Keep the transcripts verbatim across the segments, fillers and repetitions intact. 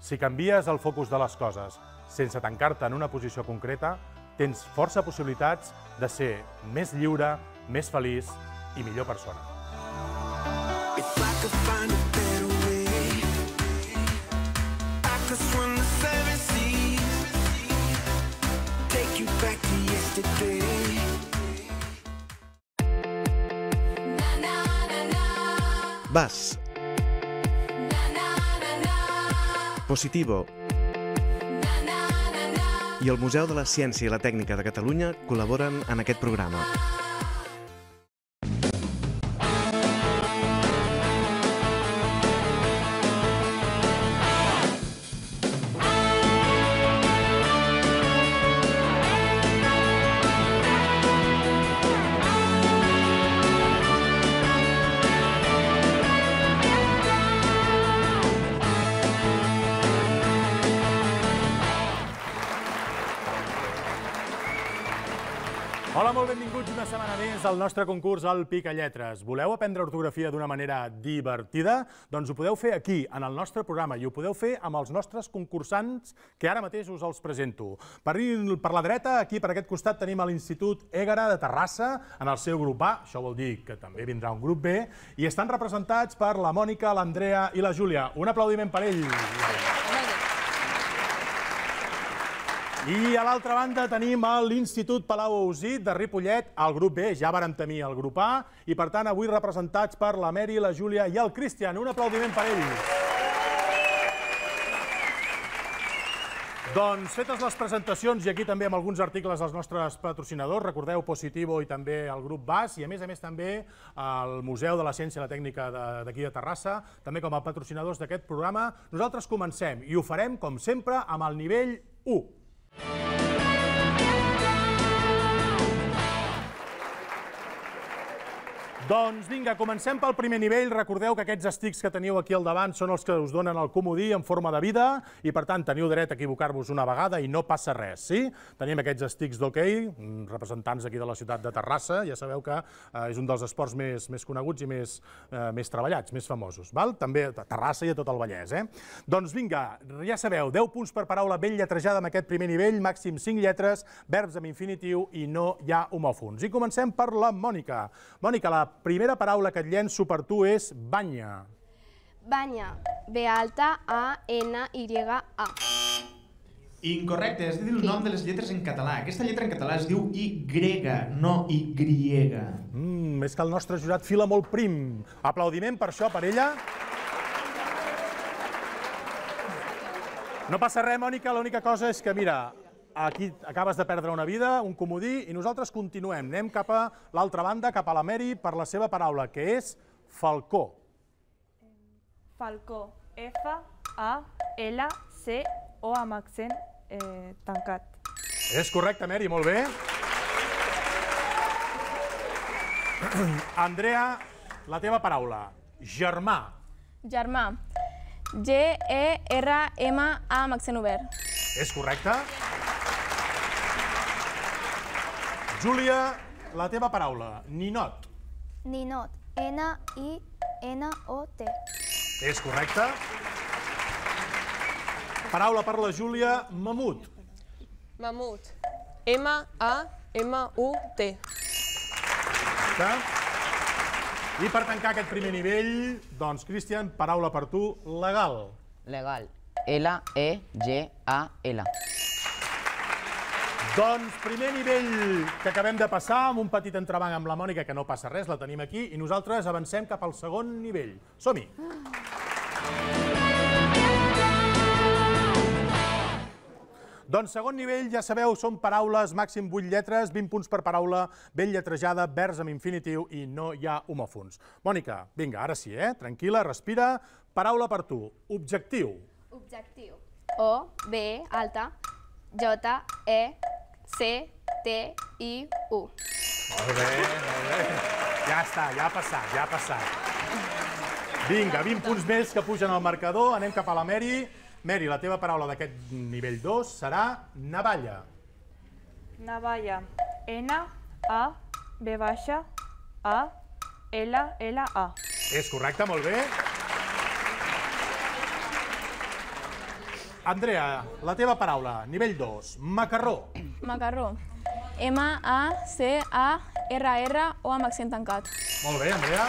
Si canvies el focus de les coses sense tancar-te en una posició concreta, tens força possibilitats de ser més lliure, més feliç i millor persona. Vas. Positivo. I el Museu de la Ciència i la Tècnica de Catalunya col·laboren en aquest programa. Hola, molt benvinguts una setmana més al nostre concurs al Picalletres. Voleu aprendre ortografia d'una manera divertida? Doncs ho podeu fer aquí, en el nostre programa, i ho podeu fer amb els nostres concursants, que ara mateix us els presento. Per la dreta, aquí per aquest costat, tenim l'Institut Ègara de Terrassa, en el seu grup A, això vol dir que també vindrà un grup B, i estan representats per la Mònica, l'Andrea i la Júlia. Un aplaudiment per ells. I a l'altra banda tenim l'Institut Palau Ausit de Ripollet, el grup B, ja vàrem tenir el grup A, i per tant avui representats per la Mary, la Júlia i el Cristian. Un aplaudiment per ells. Doncs fetes les presentacions i aquí també amb alguns articles dels nostres patrocinadors, recordeu Positivo i també el grup B A S i a més a més també el Museu de la Ciència i la Tècnica d'aquí de Terrassa, també com a patrocinadors d'aquest programa, nosaltres comencem i ho farem com sempre amb el nivell u. Doncs vinga, comencem pel primer nivell. Recordeu que aquests estics que teniu aquí al davant són els que us donen el comodí en forma de vida i per tant teniu dret a equivocar-vos una vegada i no passa res, sí? Tenim aquests estics d'hoquei, representants aquí de la ciutat de Terrassa, ja sabeu que és un dels esports més coneguts i més treballats, més famosos, també a Terrassa i a tot el Vallès. Doncs vinga, ja sabeu, deu punts per paraula ben lletrejada en aquest primer nivell, màxim cinc lletres, verbs amb infinitiu i no hi ha homòfons. I comencem per la Mònica. Mònica, la primera paraula que et llenço per tu és banya. Banya. B alta, A, N, Y, A. Incorrecte, has de dir el nom de les lletres en català. Aquesta lletra en català es diu Y, no Y. És que el nostre jurat fila molt prim. Aplaudiment per això, per ella. No passa res, Mònica, l'única cosa és que, mira, aquí acabes de perdre una vida, un comodí, i nosaltres continuem. Anem cap a l'altra banda, cap a la Mary, per la seva paraula, que és falcó. Falcó. F, A, L, C, O amb accent tancat. És correcte, Mary, molt bé. Andrea, la teva paraula. Germà. Germà. G, E, R, M, A amb accent obert. És correcte. Júlia, la teva paraula. Ninot. Ninot. N, I, N, O, T. És correcte. Paraula per la Júlia. Mamut. Mamut. M, A, M, U, T. I per tancar aquest primer nivell, doncs, Cristian, paraula per tu. Legal. Legal. L, E, G, A, L. Doncs primer nivell que acabem de passar, amb un petit entrebanc amb la Mònica, que no passa res, la tenim aquí, i nosaltres avancem cap al segon nivell. Som-hi! Doncs segon nivell, ja sabeu, són paraules, màxim vuit lletres, vint punts per paraula, ben lletrejada, verbs amb infinitiu i no hi ha homòfons. Mònica, vinga, ara sí, eh? Tranquil·la, respira. Paraula per tu. Objectiu. Objectiu. O, B, alta, J, E, C, T, I, U. Molt bé, molt bé. Ja està, ja ha passat, ja ha passat. Vinga, vint punts més que pugen al marcador. Anem cap a la Mary. Mary, la teva paraula d'aquest nivell dos serà navalla. Navalla. N, A, B baixa, A, L, L, A. És correcte, molt bé. Andrea, la teva paraula, nivell dos, macarró. Macarró. M A C A R R o amb accent tancat. Molt bé, Andrea.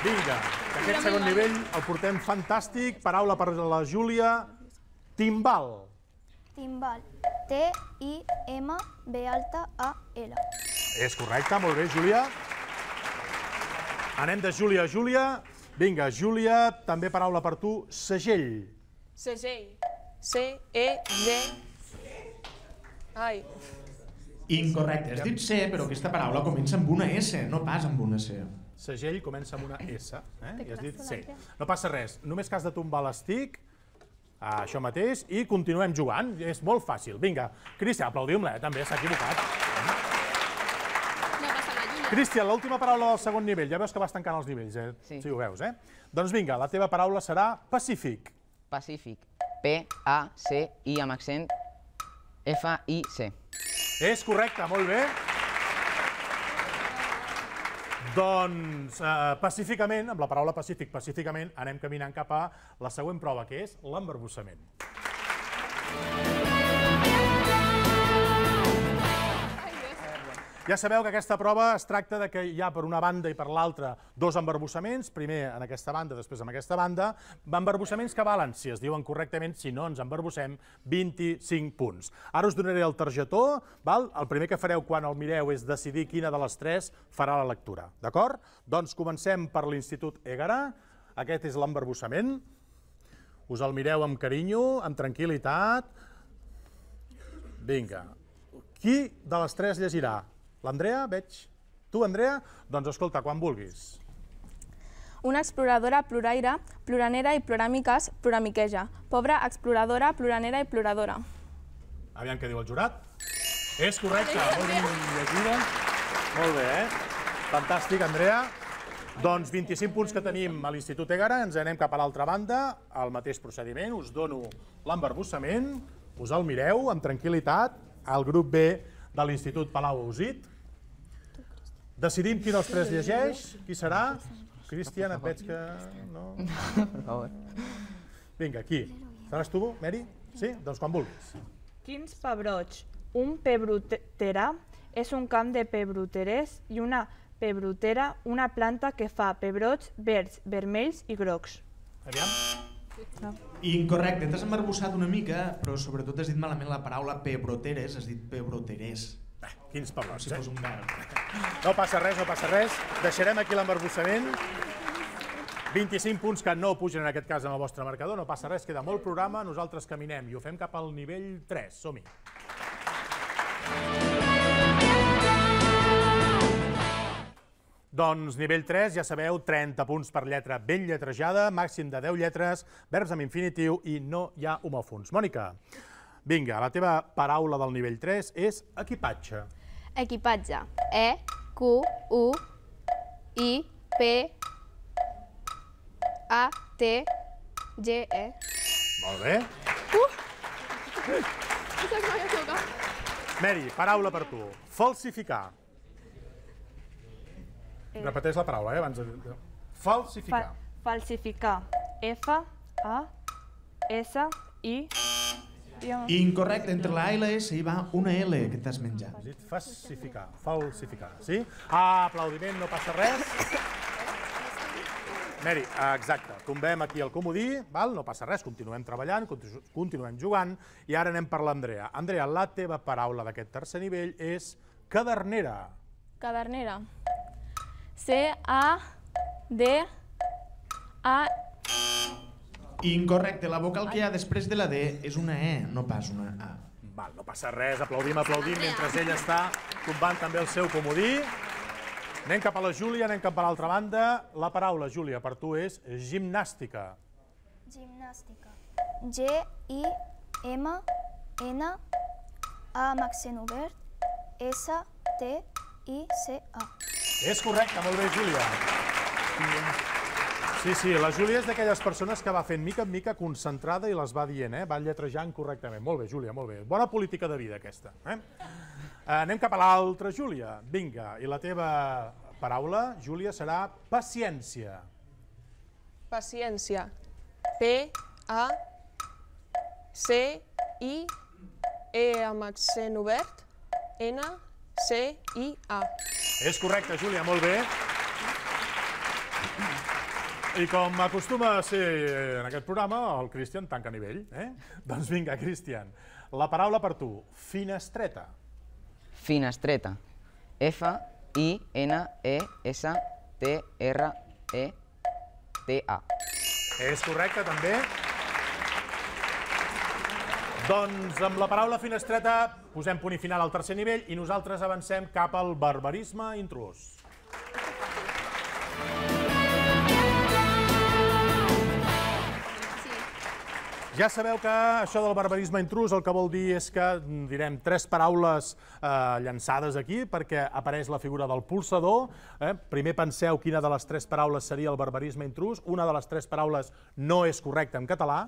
Vinga, que aquest segon nivell el portem fantàstic. Paraula per la Júlia. Timbal. Timbal. T I M B alta A L. És correcte, molt bé, Júlia. Anem de Júlia a Júlia. Vinga, Júlia, també paraula per tu, segell. Segell. C E G. Ai. Incorrecte, has dit C, però aquesta paraula comença amb una S, no pas amb una C. Segell comença amb una S, eh? I has dit C. No passa res, només que has de tombar l'estic, això mateix, i continuem jugant. És molt fàcil. Vinga, Cristian, aplaudim-la, eh? També s'ha equivocat. Cristian, l'última paraula del segon nivell. Ja veus que vas tancant els nivells, eh? Sí. Sí, ho veus, eh? Doncs vinga, la teva paraula serà pacífic. Pacífic. P A C I amb accent F I C. És correcte, molt bé. Doncs, eh, pacíficament, amb la paraula pacífic, pacíficament, anem caminant cap a la següent prova, que és l'embarbussament. Ja sabeu que aquesta prova es tracta de que hi ha per una banda i per l'altra dos embarbussaments, primer en aquesta banda, després en aquesta banda, embarbussaments que valen, si es diuen correctament, si no ens embarbussem, vint-i-cinc punts. Ara us donaré el targetó, val? El primer que fareu quan el mireu és decidir quina de les tres farà la lectura, d'acord? Doncs comencem per l'Institut Ègara, aquest és l'embarbussament, us el mireu amb carinyo, amb tranquil·litat. Vinga, qui de les tres llegirà? L'Andrea, veig. Tu, Andrea? Doncs escolta, quan vulguis. Una exploradora ploraire, ploranera i ploràmiques, ploramiqueja. Pobra exploradora, ploranera i ploradora. Aviam què diu el jurat. És correcte, molt ben llegida. Molt bé, eh? Fantàstic, Andrea. Doncs vint-i-cinc punts que tenim a l'Institut Ègara, ens anem cap a l'altra banda, al mateix procediment, us dono l'embarbussament, us el mireu amb tranquil·litat, al grup B de l'Institut Palau-Ausit. Decidim qui dels tres llegeix, qui serà? Cristian, et veig que... no? Per favor. Vinga, qui? Seràs tu, Mary? Sí? Doncs quan vulguis. Quins pebrots? Un pebrotera és un camp de pebroterers i una pebrotera, una planta que fa pebrots verds, vermells i grocs. Aviam. Incorrecte, t'has embarbussat una mica, però sobretot has dit malament la paraula pebroteres, has dit pebroterers. Bé, quins pebrots, Si eh? fos un verb. No passa res, no passa res. Deixarem aquí l'embarbussament. vint-i-cinc punts que no pugen en aquest cas en el vostre marcador, no passa res, queda molt programa, nosaltres caminem i ho fem cap al nivell tres. Som-hi. Doncs nivell tres, ja sabeu, trenta punts per lletra ben lletrejada, màxim de deu lletres, verbs amb infinitiu i no hi ha homòfons. Mònica, vinga, la teva paraula del nivell tres és equipatge. Equipatge. E, Q, U, I, P, A, T, G, E. Molt bé. Mary, paraula per tu. Falsificar. Repeteix la paraula, eh, abans de... Falsificar. Falsificar. F, A, S, I... Incorrecte, entre la A i la S hi va una L que t'has menjat. Has dit falsificar, falsificar, sí? Ah, aplaudiment, no passa res. Mary, exacte, tombem aquí el comodí, val? No passa res, continuem treballant, continuem jugant, i ara anem per l'Andrea. Andrea, la teva paraula d'aquest tercer nivell és cadernera. Cadernera. C, A, D, A... Incorrecte, la vocal que hi ha després de la D és una E, no pas una A. Val, no passa res, aplaudim, aplaudim, mentre ell està tombant també el seu comodí. Anem cap a la Júlia, anem cap a l'altra banda. La paraula, Júlia, per tu és gimnàstica. Gimnàstica. G, I, M, N, A amb accent obert, S, T, I, C, A. És correcte, molt bé, Júlia. Sí, sí, la Júlia és d'aquelles persones que va fent mica en mica concentrada i les va dient, eh? Va lletrejant correctament. Molt bé, Júlia, molt bé. Bona política de vida, aquesta. Eh? Anem cap a l'altra, Júlia. Vinga, i la teva paraula, Júlia, serà paciència. Paciència. P, A, C, I, E amb accent obert, N, C, I, A. És correcte, Júlia, molt bé. I com acostuma a ser en aquest programa, el Cristian tanca nivell. Doncs vinga, Cristian, la paraula per tu, finestreta. Finestreta. F, I, N, E, S, T, R, E, T, A. És correcte, també. Doncs amb la paraula finestreta posem punt i final al tercer nivell i nosaltres avancem cap al barbarisme intrus. Ja sabeu que això del barbarisme intrus el que vol dir és que direm tres paraules llançades aquí perquè apareix la figura del polsador. Primer penseu quina de les tres paraules seria el barbarisme intrus. Una de les tres paraules no és correcta en català,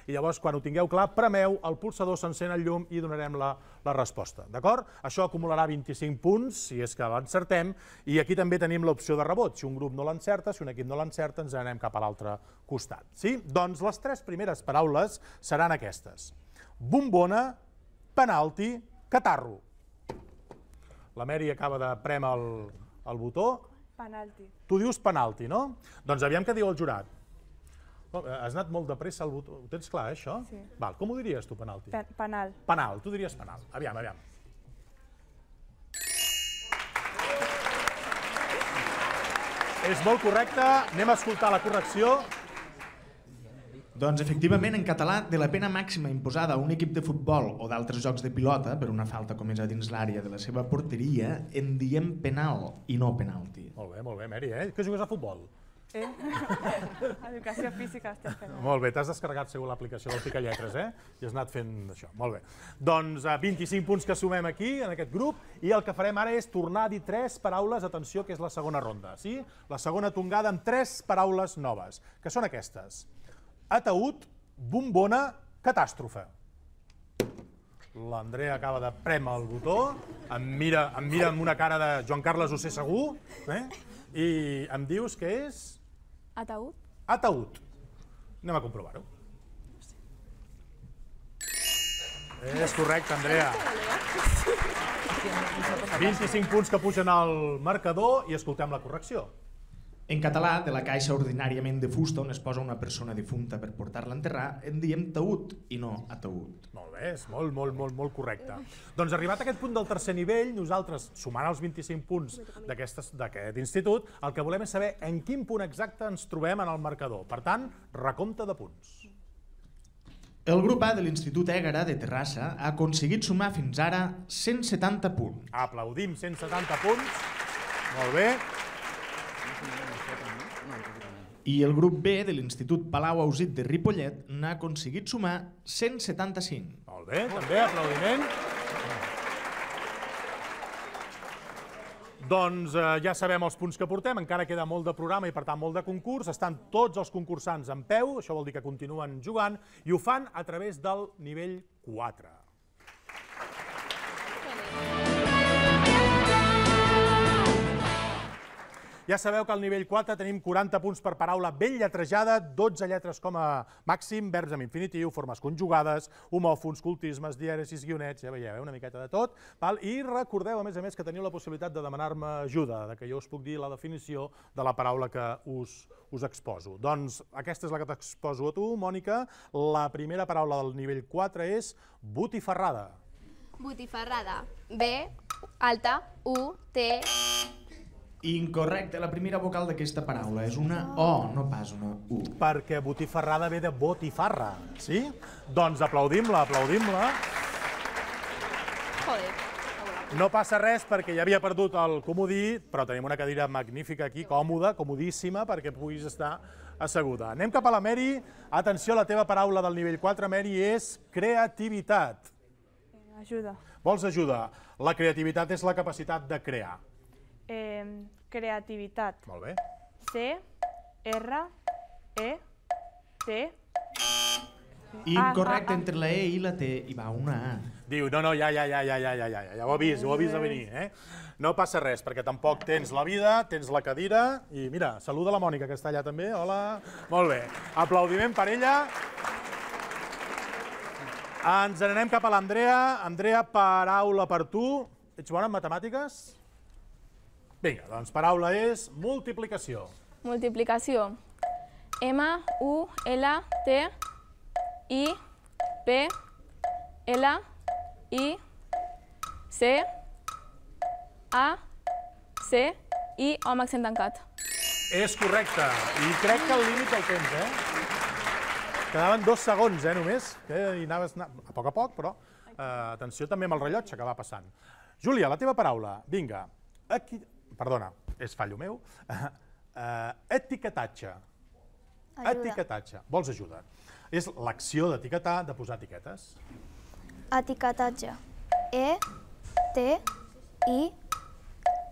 i llavors quan ho tingueu clar, premeu el polsador, s'encén el llum i donarem la resposta. D'acord? Això acumularà vint-i-cinc punts, si és que l'encertem, i aquí també tenim l'opció de rebot. Si un grup no l'encerta, si un equip no l'encerta, ens anem cap a l'altre costat. Doncs les tres primeres paraules seran aquestes. Bombona, penalti, catarro. La Mary acaba de prémer el botó. Penalti. Tu dius penalti, no? Doncs aviam què diu el jurat. Has anat molt de pressa al botó. Ho tens clar, això? Sí. Val, com ho diries tu, penalti? Penal. Penal, tu diries penal. Aviam, aviam. És molt correcte. Anem a escoltar la correcció. Doncs, efectivament, en català, de la pena màxima imposada a un equip de futbol o d'altres jocs de pilota per una falta comesa dins l'àrea de la seva porteria, en diem penal i no penalti. Molt bé, molt bé, Mary, eh? Que jugues a futbol? Eh? Educació física estem fent. Molt bé, t'has descarregat segur l'aplicació del Picalletres, eh? I has anat fent això. Molt bé. Doncs vint-i-cinc punts que sumem aquí, en aquest grup, i el que farem ara és tornar a dir tres paraules, atenció, que és la segona ronda, sí? La segona tongada amb tres paraules noves, que són aquestes. Ataúd, bombona, catàstrofe. L'Andrea acaba de prémer el botó, em mira amb una cara de Joan Carles ho sé segur, i em dius que és... Ataúd. Ataúd. Anem a comprovar-ho. És correcte, Andrea. vint-i-cinc punts que pugen al marcador i escoltem la correcció. En català, de la caixa ordinàriament de fusta on es posa una persona difunta per portar-la a enterrar, en diem taüt i no ataúd. Molt bé, és molt, molt, molt, molt correcte. Doncs arribat a aquest punt del tercer nivell, nosaltres, sumant els vint-i-cinc punts d'aquest institut, el que volem és saber en quin punt exacte ens trobem en el marcador. Per tant, recompte de punts. El grup A de l'Institut Ègara de Terrassa ha aconseguit sumar fins ara cent setanta punts. Aplaudim, cent setanta punts. Molt bé. I el grup B de l'Institut Palau Ausit de Ripollet n'ha aconseguit sumar cent setanta-cinc. Molt bé, també, aplaudiment. Doncs ja sabem els punts que portem, encara queda molt de programa i per tant molt de concurs. Estan tots els concursants en peu, això vol dir que continuen jugant, i ho fan a través del nivell quatre. Ja sabeu que al nivell quatre tenim quaranta punts per paraula ben lletrejada, dotze lletres com a màxim, verbs amb infinitiu, formes conjugades, homòfons, cultismes, dièresis, guionets, ja veieu, una miqueta de tot. I recordeu, a més a més, que teniu la possibilitat de demanar-me ajuda, que jo us puc dir la definició de la paraula que us exposo. Doncs aquesta és la que t'exposo a tu, Mònica. La primera paraula del nivell quatre és botifarrada. Botifarrada. B, alta, U, T... Incorrecte, la primera vocal d'aquesta paraula és una O, no pas una U. Perquè botifarrada ve de botifarra, sí? Doncs aplaudim-la, aplaudim-la. Joder. No passa res perquè ja havia perdut el comodí, però tenim una cadira magnífica aquí, còmoda, comodíssima, perquè puguis estar asseguda. Anem cap a la Mary. Atenció, la teva paraula del nivell quatre, Mary, és creativitat. Ajuda. Vols ajuda? La creativitat és la capacitat de crear. Creativitat. Molt bé. C, R, E, T... Incorrecte, entre la E i la T hi va una A. Diu, no, no, ja, ja, ja, ja, ja, ja, ja, ja ho he vist, ho he vist a venir, eh? No passa res, perquè tampoc tens la vida, tens la cadira, i mira, saluda la Mònica, que està allà també, hola. Molt bé, aplaudiment per ella. Ens n'anem cap a l'Andrea. Andrea, paraula per tu. Ets bona en matemàtiques? Vinga, doncs paraula és multiplicació. Multiplicació. M, U, L, T, I, P, L, I, C, A, C, I, O amb accent tancat. És correcte. I crec que el límit del temps, eh? Quedaven dos segons, eh, només. I anaves a poc a poc, però atenció també amb el rellotge que va passant. Júlia, la teva paraula. Vinga. Perdona, és fallo meu. Etiquetatge. Etiquetatge. Vols ajuda? És l'acció d'etiquetar, de posar etiquetes. Etiquetatge. E, T, I,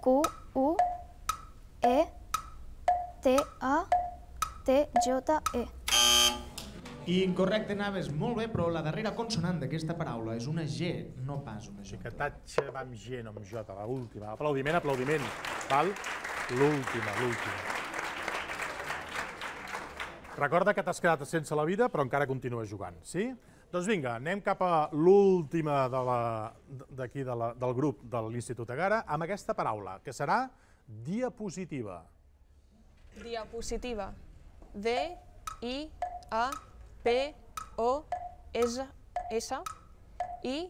Q, U, E, T, A, T, J, E. Incorrecte, anaves molt bé, però la darrera consonant d'aquesta paraula és una G, no pas una J. Etiquetatge va amb G, no amb J, l'última. Aplaudiment, aplaudiment. Val? L'última, l'última. Recorda que t'has quedat sense la vida, però encara continues jugant, sí? Doncs vinga, anem cap a l'última d'aquí del grup de l'Institut Egara amb aquesta paraula, que serà diapositiva. Diapositiva. D, I, A, P, O, S, S, I,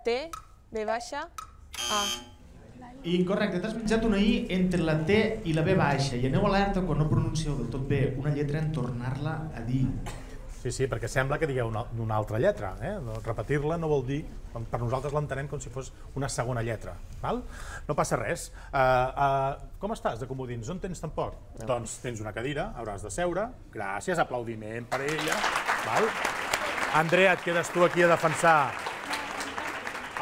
T, V baixa, A. Incorrecte, t'has menjat una I entre la T i la V baixa i aneu alerta quan no pronuncieu del tot bé una lletra en tornar-la a dir. Sí, sí, perquè sembla que digueu una altra lletra. Repetir-la no vol dir, per nosaltres l'entenem com si fos una segona lletra. No passa res. Com estàs de comodins? On tens tampoc? Doncs tens una cadira, hauràs de seure. Gràcies, aplaudiment per ella. Andrea, et quedes tu aquí a defensar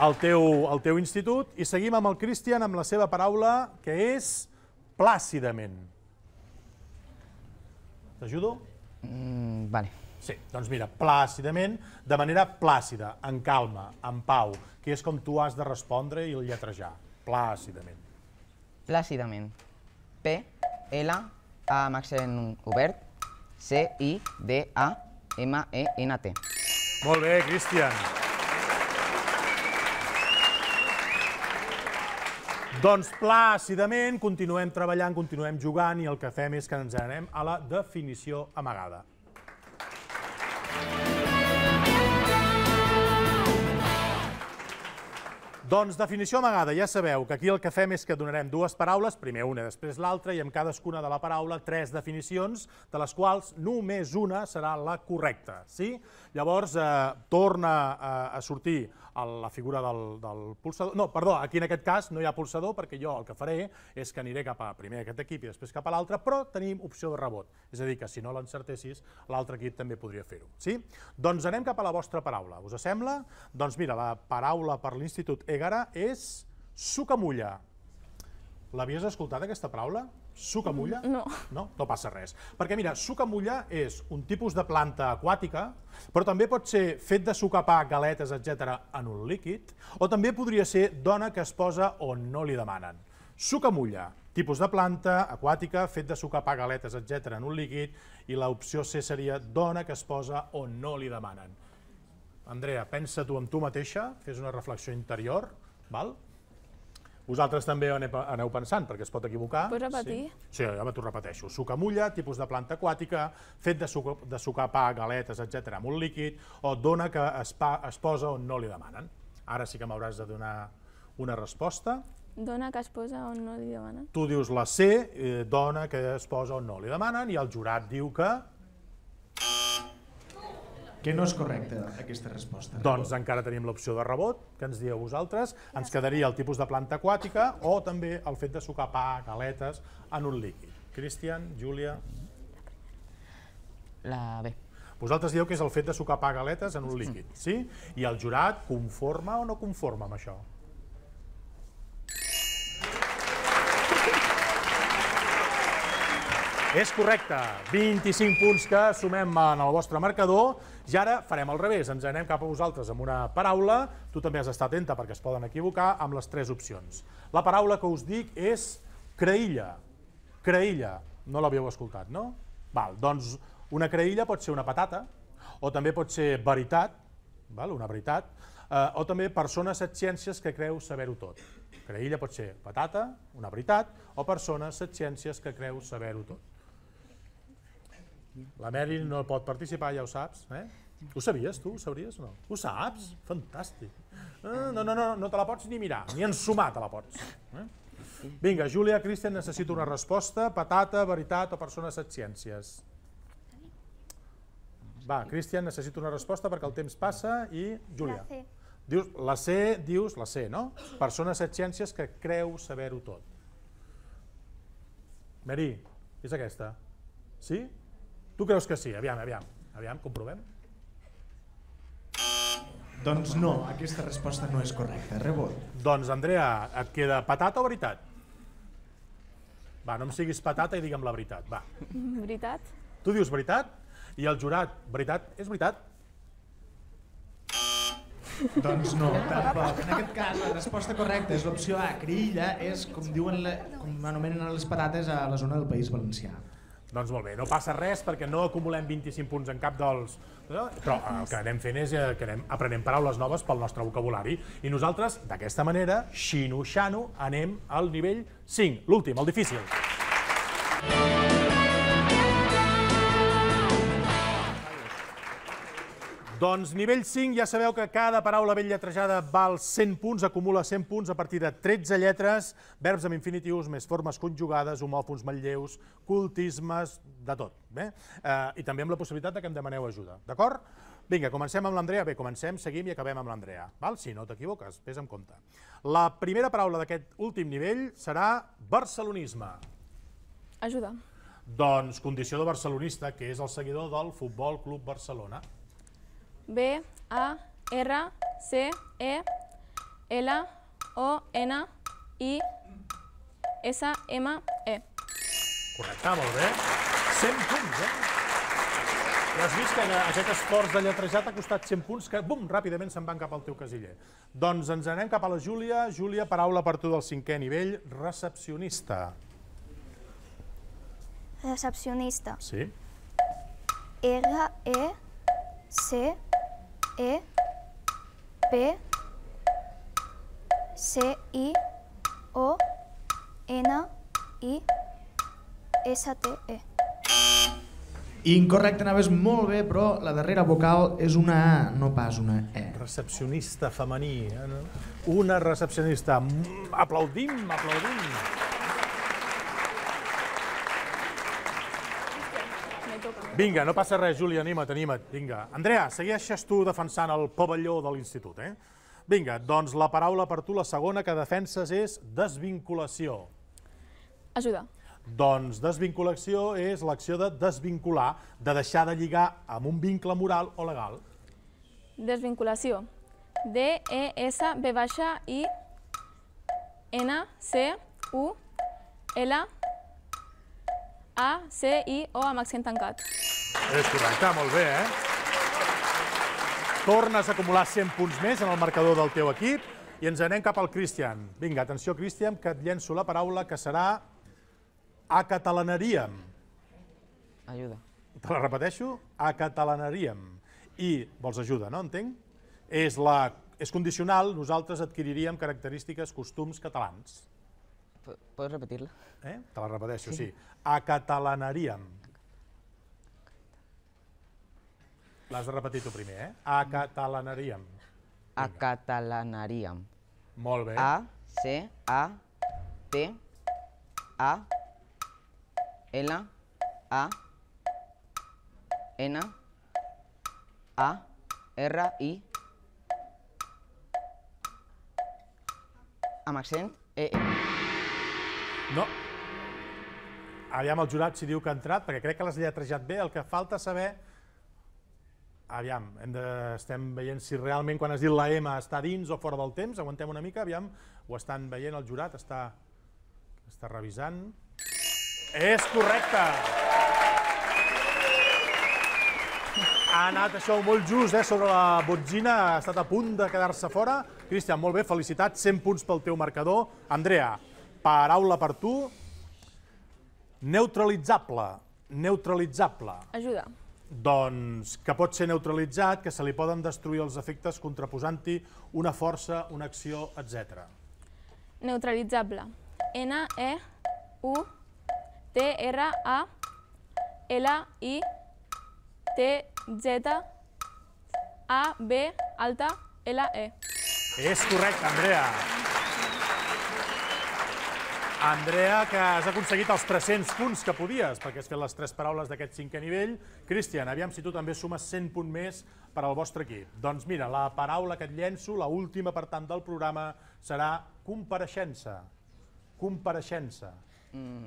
el teu institut i seguim amb el Cristian amb la seva paraula, que és plàcidament. T'ajudo? Vale. Sí, doncs mira, plàcidament, de manera plàcida, en calma, en pau, que és com tu has de respondre i lletrejar. Plàcidament. Plàcidament. P, L, A amb accent obert, C, I, D, A, M, E, N, T. Molt bé, Cristian. Doncs plàcidament continuem treballant, continuem jugant i el que fem és que ens anem a la definició amagada. Doncs definició amagada, ja sabeu que aquí el que fem és que donarem dues paraules, primer una, després l'altra, i amb cadascuna de la paraula tres definicions, de les quals només una serà la correcta. Llavors torna a sortir la figura del pulsador. No, perdó, aquí en aquest cas no hi ha pulsador perquè jo el que faré és que aniré cap a primer aquest equip i després cap a l'altre, però tenim opció de rebot. És a dir, que si no l'encertessis, l'altre equip també podria fer-ho. Doncs anem cap a la vostra paraula. Us sembla? Doncs mira, la paraula per l'Institut Egara és sucamulla. L'havies escoltat, aquesta paraula? Sucamulla? No. No? No passa res. Perquè mira, sucamulla és un tipus de planta aquàtica, però també pot ser fet de sucar pa, galetes, etcètera, en un líquid, o també podria ser dona que es posa on no li demanen. Sucamulla, tipus de planta aquàtica, fet de sucar pa, galetes, etcètera, en un líquid, i l'opció C seria dona que es posa on no li demanen. Andrea, pensa tu amb tu mateixa, fes una reflexió interior, val? Vosaltres també aneu pensant, perquè es pot equivocar. Pots repetir? Sí, ja t'ho repeteixo. Sucamulla, tipus de planta aquàtica, fet de sucar pa, galetes, etcètera, amb un líquid, o dona que es posa on no li demanen. Ara sí que m'hauràs de donar una resposta. Dona que es posa on no li demanen. Tu dius la C, dona que es posa on no li demanen, i el jurat diu que... Que no és correcta, aquesta resposta. Doncs encara tenim l'opció de rebot, que ens dieu vosaltres. Ens quedaria el tipus de planta aquàtica o també el fet de sucar pa, galetes, en un líquid. Cristian, Júlia... La B. Vosaltres dieu que és el fet de sucar pa, galetes, en un líquid, sí? I el jurat conforma o no conforma amb això? És correcte, vint-i-cinc punts que sumem en el vostre marcador i ara farem al revés, ens anem cap a vosaltres amb una paraula, tu també has d'estar atenta perquè es poden equivocar, amb les tres opcions. La paraula que us dic és creïlla, creïlla, no l'havíeu escoltat, no? Val, doncs una creïlla pot ser una patata o també pot ser veritat, una veritat, o també persona set ciències que creu saber-ho tot. Creïlla pot ser patata, una veritat, o persona set ciències que creu saber-ho tot. La Mary no pot participar, ja ho saps. Ho sabies, tu? Ho sabries o no? Ho saps? Fantàstic. No, no, no, no te la pots ni mirar, ni ensumar te la pots. Vinga, Júlia, Cristian, necessito una resposta. Patata, veritat o persona set ciències? Va, Cristian, necessito una resposta perquè el temps passa i Júlia. La C. Dius, la C, dius, la C, no? Persona set ciències que creu saber-ho tot. Mary, és aquesta? Sí? Tu creus que sí? Aviam, aviam, aviam, comprovem. Doncs no, aquesta resposta no és correcta. Rebot. Doncs, Andrea, et queda patata o veritat? Va, no em siguis patata i digue'm la veritat, va. Veritat. Tu dius veritat? I el jurat, veritat, és veritat? Doncs no, tampoc. En aquest cas, la resposta correcta és l'opció A. Creïlla és, com diuen, com anomenen les patates a la zona del País Valencià. Doncs molt bé, no passa res perquè no acumulem vint-i-cinc punts en cap dels... Però el que anem fent és que anem aprenent paraules noves pel nostre vocabulari i nosaltres, d'aquesta manera, xino-xano, anem al nivell cinc, l'últim, el difícil. Doncs nivell cinc, ja sabeu que cada paraula ben lletrejada val cent punts, acumula cent punts a partir de tretze lletres, verbs amb infinitius, més formes conjugades, homòfons, manlleus, cultismes, de tot. I també amb la possibilitat que em demaneu ajuda, d'acord? Vinga, comencem amb l'Andrea. Bé, comencem, seguim i acabem amb l'Andrea. Si no t'equivoques, vés amb compte. La primera paraula d'aquest últim nivell serà barcelonisme. Ajuda. Doncs condició de barcelonista, que és el seguidor del Futbol Club Barcelona. B, A, R, C, E, L, O, N, I, S, M, E. Correcte, molt bé. cent punts, eh? Ja has vist que aquest esforç de lletrejar t'ha costat cent punts, que, bum, ràpidament se'n van cap al teu casiller. Doncs ens anem cap a la Júlia. Júlia, paraula per tu del cinquè nivell, recepcionista. Recepcionista. Sí. R, E, C, E, P, C, I, O, N, I, S, T, E. Incorrecte, anaves molt bé, però la darrera vocal és una A, no pas una E. Recepcionista femení. Una recepcionista. Aplaudim, aplaudim. Vinga, no passa res, Júlia, anima't, anima't. Vinga. Andrea, segueixes tu defensant el pavelló de l'institut, eh? Vinga, doncs la paraula per tu, la segona que defenses és desvinculació. Ajuda. Doncs desvinculació és l'acció de desvincular, de deixar de lligar amb un vincle moral o legal. Desvinculació. D, E, S, B baixa, I, N, C, U, L, A, C, I, O amb accent tancat. És correcte, molt bé, eh? Tornes a acumular cent punts més en el marcador del teu equip i ens anem cap al Cristian. Vinga, atenció, Cristian, que et llenço la paraula que serà acatalanaríem. Ajuda. Te la repeteixo? Acatalanaríem. I vols ajuda, no? Entenc? És, la, és condicional, nosaltres adquiriríem característiques, costums catalans. Pots repetir-la? Eh? Te la repeteixo, sí. Acatalanaríem. L'has de repetir tu primer, eh? Acatalanaríem. Acatalanaríem. Molt bé. A, C, A, T, A, L, A, N, A, R, I, amb accent E. No. Aviam el jurat si diu que ha entrat, perquè crec que l'has lletrejat bé. El que falta saber... Aviam, hem de... estem veient si realment quan has dit la M està dins o fora del temps. Aguantem una mica, aviam. Ho estan veient, el jurat està, està revisant. És correcte! Ha anat això molt just, eh, sobre la botzina, ha estat a punt de quedar-se fora. Cristian, molt bé, felicitats, cent punts pel teu marcador. Andrea, paraula per tu. Neutralitzable. Neutralitzable. Ajuda. Doncs que pot ser neutralitzat, que se li poden destruir els efectes contraposant-hi una força, una acció, etcètera. Neutralitzable. N, E, U, T, R, A, L, I, T, Z, A, B, alta, L, E. És correcte, Andrea. Andrea, que has aconseguit els tres-cents punts que podies, perquè has fet les tres paraules d'aquest cinquè nivell. Cristian, aviam si tu també sumes cent punts més per al vostre equip. Doncs mira, la paraula que et llenço, la última per tant del programa, serà compareixença. Compareixença.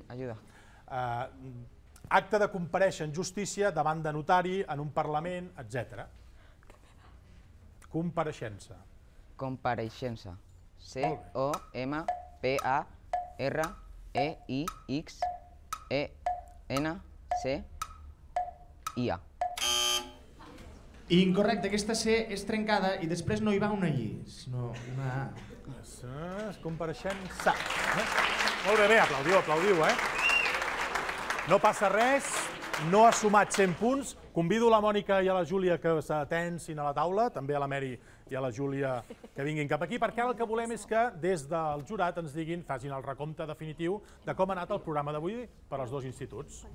Ajuda. Acte de comparèixer en justícia davant de notari, en un parlament, etcètera. Compareixença. Compareixença. C O M P A R E I X E N C I A. Incorrecte, aquesta C és trencada i després no hi va una I, sinó una A. Compareixença. Molt bé, bé, aplaudiu, aplaudiu, eh? No passa res, no ha sumat cent punts. Convido la Mònica i a la Júlia que s'atensin a la taula, també a la Mary i a la Júlia que vinguin cap aquí, perquè ara el que volem és que des del jurat ens diguin, facin el recompte definitiu de com ha anat el programa d'avui per als dos instituts.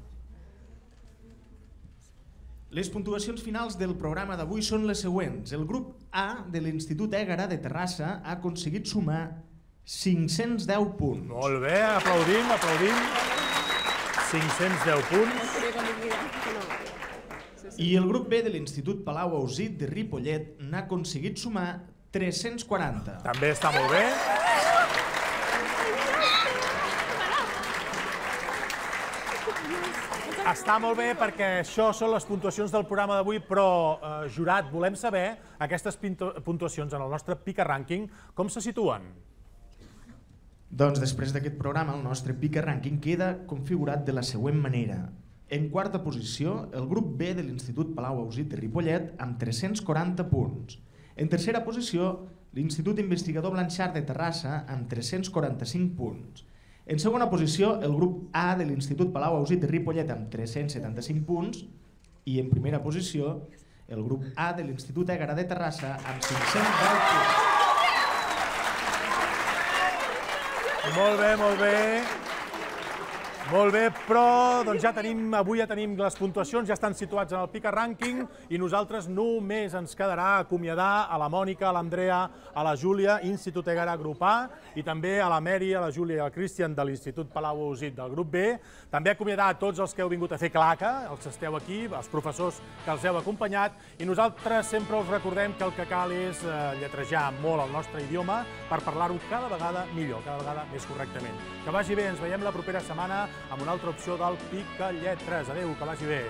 Les puntuacions finals del programa d'avui són les següents. El grup A de l'Institut Ègara de Terrassa ha aconseguit sumar cinc-cents deu punts. Molt bé, aplaudim, aplaudim. cinc-cents deu punts. I el grup B de l'Institut Palau Ausit de Ripollet n'ha aconseguit sumar tres-cents quaranta. També està molt bé. Està molt bé perquè això són les puntuacions del programa d'avui, però, eh, jurat, volem saber aquestes puntuacions en el nostre Pica Rànquing, com se situen? Doncs després d'aquest programa, el nostre Pica Rànquing queda configurat de la següent manera. En quarta posició, el grup B de l'Institut Palau Ausit de Ripollet amb tres-cents quaranta punts. En tercera posició, l'Institut Investigador Blanxart de Terrassa amb tres-cents quaranta-cinc punts. En segona posició, el grup A de l'Institut Palau Ausit de Ripollet amb tres-cents setanta-cinc punts. I en primera posició, el grup A de l'Institut Ègara de Terrassa amb cinc-cents deu punts. Molt bé, molt bé. Molt bé, però doncs ja tenim, avui ja tenim les puntuacions, ja estan situats en el Pica Rànquing i nosaltres només ens quedarà acomiadar a la Mònica, a l'Andrea, a la Júlia, Institut Ègara, grup A, i també a la Mary, a la Júlia i al Cristian de l'Institut Palau Ausit del grup B. També acomiadar a tots els que heu vingut a fer claca, els que esteu aquí, els professors que els heu acompanyat, i nosaltres sempre us recordem que el que cal és lletrejar molt el nostre idioma per parlar-ho cada vegada millor, cada vegada més correctament. Que vagi bé, ens veiem la propera setmana amb una altra opció del Pica Lletres. Adéu, que vagi bé.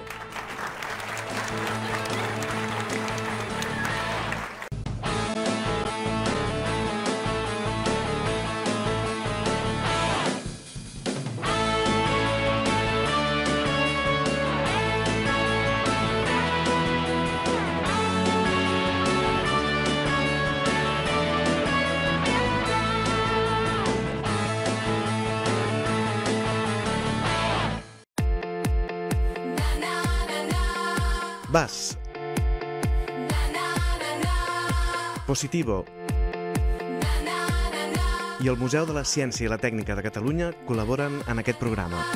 Vas. Positivo. I el Museu de la Ciència i la Tècnica de Catalunya col·laboren en aquest programa.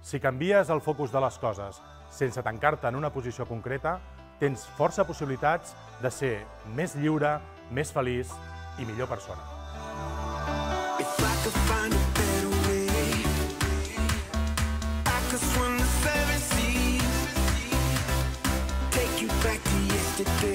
Si canvies el focus de les coses sense tancar-te en una posició concreta, tens força possibilitats de ser més lliure, més feliç i millor persona. Take you back to yesterday.